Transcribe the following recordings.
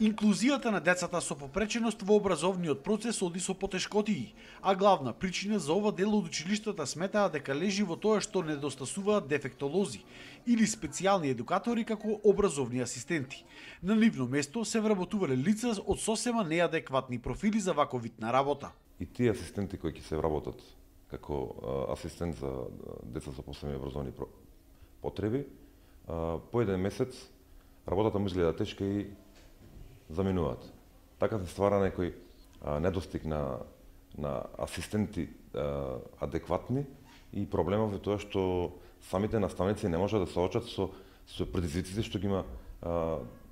Инклузијата на децата со попреченост во образовниот процес оди со потешкотии, а главна причина за ова дел од училиштата сметаа дека лежи во тоа што недостасуваат дефектолози или специјални едукатори како образовни асистенти. На нивно место се вработувале лица од сосема неадекватни профили за ваков вид на работа. И тие асистенти кои ќе се вработат како асистент за деца со посебни образовни потреби, по еден месец работата му изгледа тешка и заменуваат. Така се ствара некој недостиг на асистенти адекватни и проблемот е тоа што самите наставници не можат да се соочат со предизвиците што ги има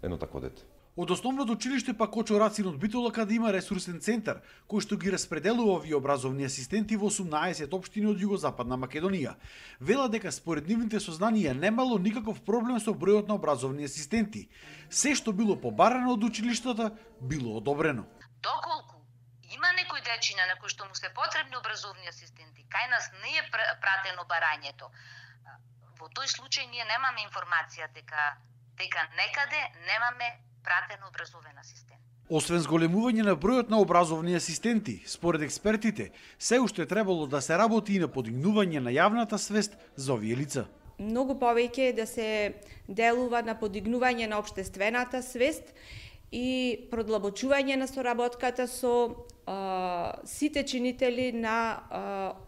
едно такво дете. Од основното училиште пак Кочо Рацин од Битола, каде има ресурсен центар, кој што ги распределува овие образовни асистенти во 18 општини од Југозападна Македонија. Вела дека според нивните сознанија немало никаков проблем со бројот на образовни асистенти. Се што било побарано од училиштата, било одобрено. Доколку има некој дечина на кој што му се потребни образовни асистенти, кај нас не е пратено барањето, во тој случај ние немаме информација дека некаде немаме пратен образовен асистент. Освен зголемување на бројот на образовни асистенти, според експертите, се уште требало да се работи и на подигнување на јавната свест за овие лица. Многу повеќе да се делува на подигнување на општествената свест и продлабочување на соработката со сите чинители на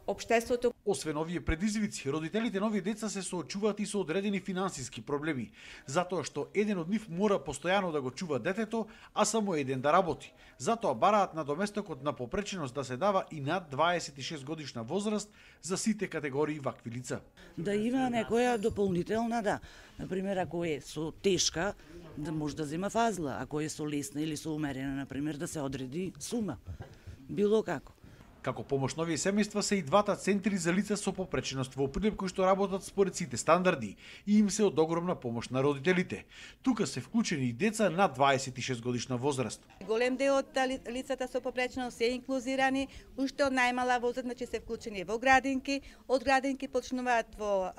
општеството. Освен овие предизвици, родителите на овие деца се соочуваат и со одредени финансиски проблеми, затоа што еден од нив мора постојано да го чува детето, а само еден да работи. Затоа бараат надоместокот на попреченост да се дава и над 26 годишна возраст за сите категории вакви лица. Да има некоја дополнителна, да. Например, ако е со тешка, да може да зема фазла, ако е со лесна или со умерена, например, да се одреди сума. Било како. Како помош на овие семејства се и двата центри за лица со попреченост во Прилеп кои што работат според сите стандарди и им се од огромна помош на родителите. Тука се вклучени и деца над 26 годишна возраст. Голем дел од лицата со попреченост се инклузирани, уште од најмала возраст, значи се вклучени во градинки, од градинки почнуваат во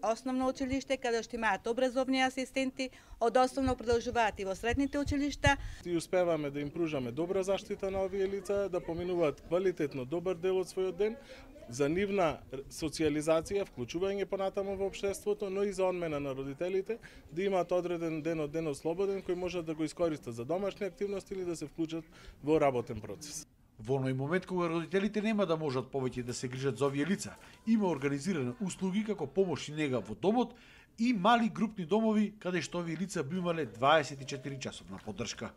основно училиште каде што имаат образовни асистенти, од основно продолжуваат и во средните училишта. И успеваме да им пружаме добра заштита на овие лица, да поминуваат квалитетно добар дел од својот ден за нивна социјализација, вклучување понатаму во општеството, но и за одмена на родителите, да имаат одреден ден од денот слободен кој можат да го искористат за домашни активности или да се вклучат во работен процес. Во оној момент кога родителите нема да можат повеќе да се грижат за овие лица, има организирани услуги како помош и нега во домот и мали групни домови каде што овие лица би имале 24 часовна поддршка.